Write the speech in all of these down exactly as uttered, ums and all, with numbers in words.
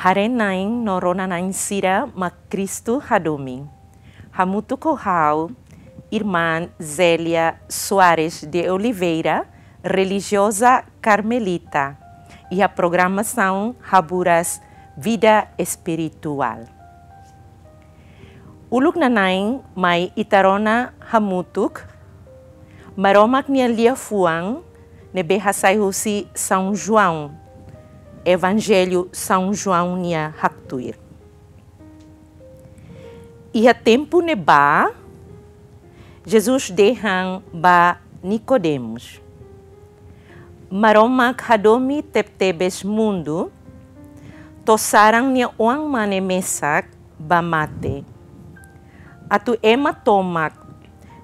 Haree-na'in no rona-na'in sira mak Kristu hadomi. Hamutuk ho ha'u, Irmã Zélia Soares de Oliveira, relijioza karmelita, iha programasaun Haburas Vida Espirituál. Uluk nana'in mai ita rona hamutuk Maromak nia liafuan ne'ebé hasai husi São João, Evanjellu São João nia haktuir. Iha tempu ne'ebá, Jesus dehan ba Nikodemus: Maromak hadomi tebetebes mundu, to'o saran nia oan-mane mesak ba mate, atu ema tomak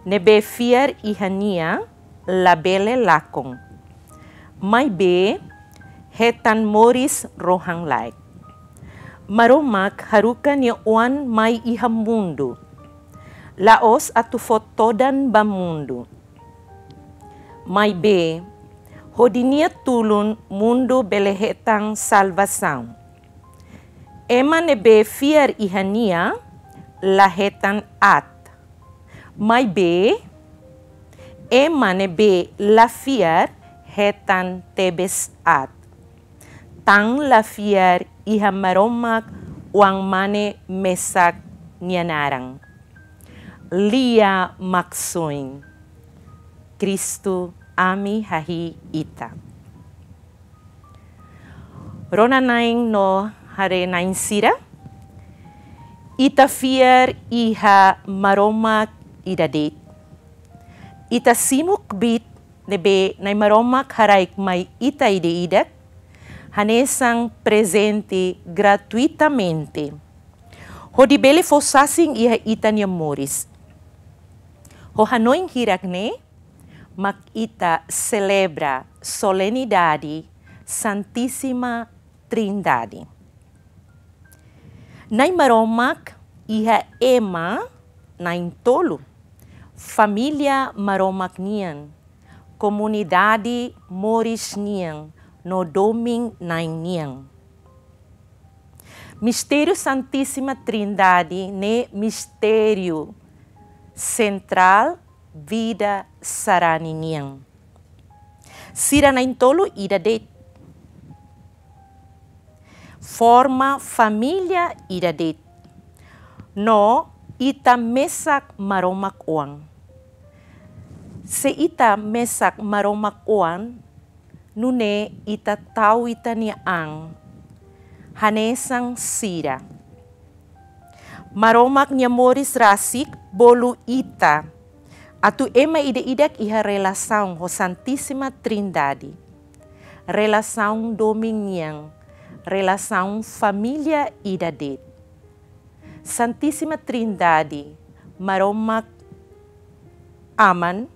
ne'ebé fiar iha nia labele lakon, maibé hetan moris rohan-laek. Maromak haruka nia Oan mai iha mundu, la'ós atu fó todan ba mundu, maibé hodi nia tulun mundu bele hetan salvasaun. Ema ne'ebé fiar iha nia la hetan aat, maibé ema ne'ebé la fiar hetan tebes aat, tan la fiar iha Maromak Oan-Mane mesak nia naran. Lia Maksoin. Kristu, ami hahi'i ita. Rona-na'in no haree-na'in sira, ita fiar iha Maromak ida de'it. Ita simu kbiit ne'ebé Na'i Maromak haraik mai ita ida-idak, hanesan prezente gratuitamente, hodi bele fó sasin iha ita-nia moris. Ho hanoin hirak-ne'e mak ita selebra solenidade Santíssima Trindade. Na'i Maromak iha ema na'in-tolu, família Maromak nian, komunidade moris nian no domin-na'in nian. Mistériu Santíssima Trindade ne'e mistériu sentrál vida sarani nian. Sira na'in-tolu ida de'it, forma família ida de'it, no ita mesak Maromak Oan. Se ita mesak Maromak Oan, nune'e ita tau ita-nia an hanesan sira. Maromak nia moris rasik bolu ita atu ema ida-idak iha relasaun ho Santíssima Trindade, relasaun domin nian, relasaun família ida de'it. Santíssima Trindade, Maromak Aman,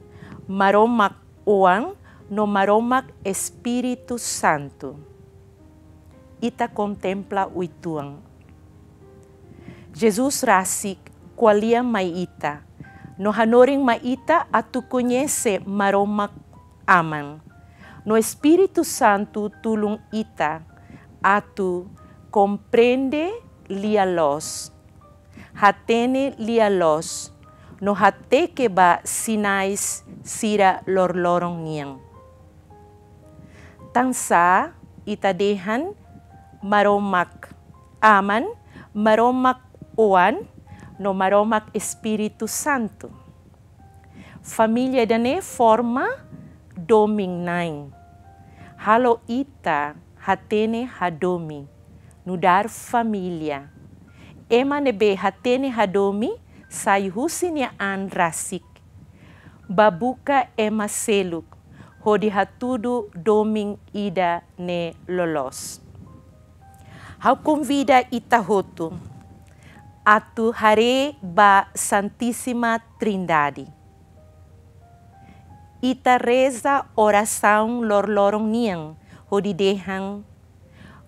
Maromak Oan no Maromak Espíritu Santu. Ita kontempla uitoan. Jesus rasik ko'alia mai ita no hanorin mai ita atu koñese Maromak Aman, no Espíritu Santu tulun ita atu komprende lia-loos, hatene lia-loos, no hateke ba sinais sira loroloron nian. Tansá ita dehan Maromak Aman, Maromak Oan no Maromak Espíritu Santu? Família ida-ne'e forma domin-na'in. Halo ita hatene hadomi, nu'udar família. Ema ne'ebé hatene hadomi sai husi nia an rasik, bá buka ema seluk hodi hatudu domin ida ne'e loloos. Ha'u konvida ita hotu atu haree ba Santíssima Trindade. Ita reza orasaun loroloron nian hodi dehan: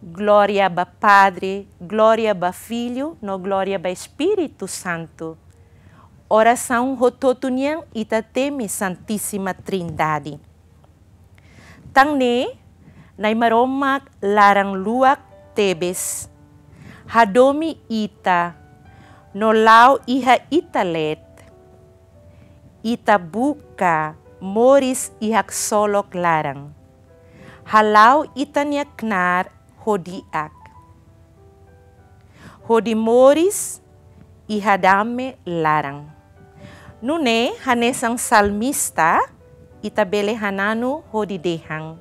Glória ba Padre, glória ba Filho, no glória ba Espíritu Santu. Orasaun hotu-hotu nian ita temi Santíssima Trindade. Tan ne'e, Na'i Maromak laran-luak tebes, Hadomi ita, no la'o iha ita leet. Ita buka moris iha haksolok laran. Hala'o ita-nia knaar ho di'ak. Hodi moris iha dame laran. Nune'e hanesan salmista, ita bele hananu hodi dehan: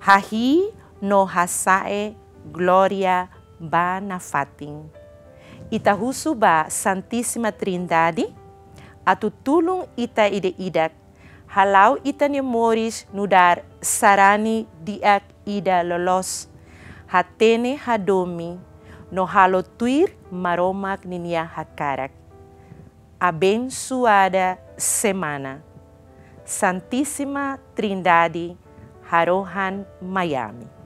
Hahí no hasa'e glória ba nafatin. Ita husu ba Santísima Trindade atu tulun ita ida-idak, hala'o ita-nia moris nu'udar sarani di'ak ida loloos, hatene hadomi, no halo tuir Maromak ninia hakarak. Abensoada semana. Santísima Trindade harohan mai ami.